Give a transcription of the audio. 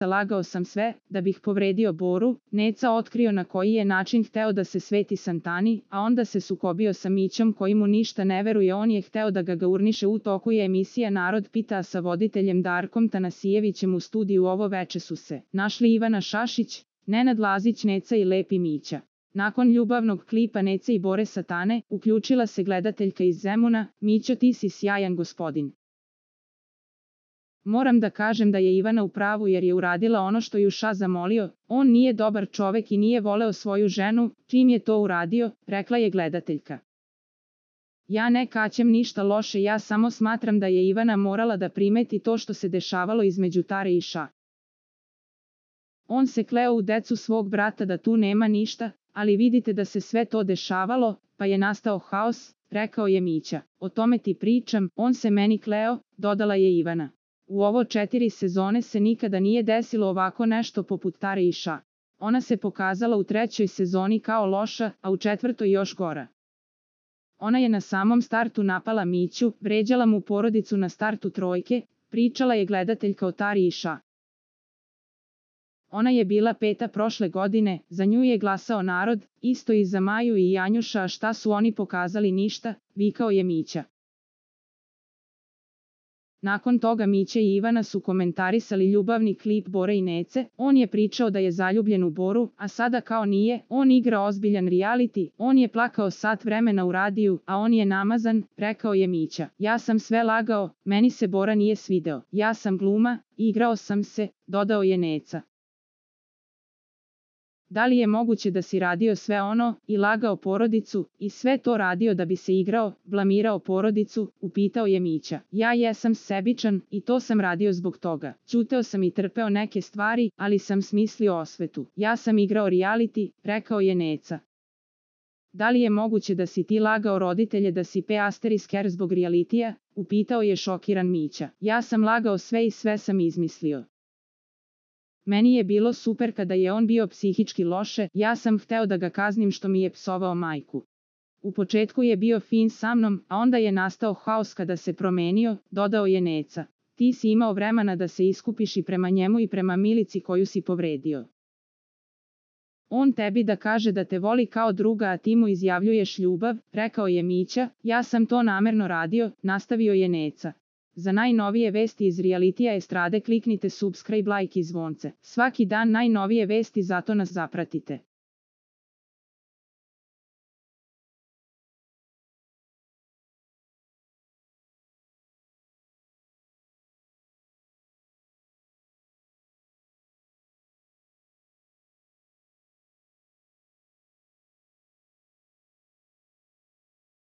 lagao sam sve, da bih povredio Boru, Neca otkrio na koji je način hteo da se sveti Santani, a onda se sukobio sa Mićom koji mu ništa ne veruje, on je hteo da ga urniše. U toku je emisija Narod pita, sa voditeljem Darkom Tanasijevićem u studiju ovo veče su se našli Ivana Šašić, Nenad Lazić, Neca i Lepi Mića. Nakon ljubavnog klipa Nece i Bore Satane, uključila se gledateljka iz Zemuna: Mićo, ti si sjajan gospodin. Moram da kažem da je Ivana u pravu jer je uradila ono što ju Ša zamolio, on nije dobar čovek i nije voleo svoju ženu, čim je to uradio, rekla je gledateljka. Ja ne kaćem ništa loše, ja samo smatram da je Ivana morala da primeti to što se dešavalo između Tare i Ša. On se kleo u decu svog brata da tu nema ništa, ali vidite da se sve to dešavalo, pa je nastao haos, rekao je Mića. O tome ti pričam, on se meni kleo, dodala je Ivana. U ovo 4 sezone se nikada nije desilo ovako nešto poput Tare i Ša. Ona se pokazala u 3. sezoni kao loša, a u 4. još gora. Ona je na samom startu napala Miću, vređala mu porodicu na startu 3, pričala je gledateljka o Tari i Ša. Ona je bila 5. prošle godine, za nju je glasao narod, isto i za Maju i Janjuša, a šta su oni pokazali? Ništa, vikao je Mića. Nakon toga Mića i Ivana su komentarisali ljubavni klip Bore i Nece, on je pričao da je zaljubljen u Boru, a sada kao nije, on igra ozbiljan reality, on je plakao sat vremena u radiju, a on je namazan, rekao je Mića. Ja sam sve lagao, meni se Bora nije svideo, ja sam gluma, igrao sam se, dodao je Neca. Da li je moguće da si radio sve ono, i lagao porodicu, i sve to radio da bi se igrao, blamirao porodicu, upitao je Mića. Ja jesam sebičan, i to sam radio zbog toga. Ćuteo sam i trpeo neke stvari, ali sam smislio osvetu. Ja sam igrao reality, rekao je Neca. Da li je moguće da si ti lagao roditelje da si **** zbog realitija, upitao je šokiran Mića. Ja sam lagao sve i sve sam izmislio. Meni je bilo super kada je on bio psihički loše, ja sam hteo da ga kaznim što mi je psovao majku. U početku je bio fin sa mnom, a onda je nastao haos kada se promenio, dodao je Neca. Ti si imao vremena da se iskupiš i prema njemu i prema Milici koju si povredio. On tebi da kaže da te voli kao druga, a ti mu izjavljuješ ljubav, rekao je Mića. Ja sam to namerno radio, nastavio je Neca. Za najnovije vesti iz realitija estrade kliknite subscribe, like i zvonce. Svaki dan najnovije vesti, zato nas zapratite.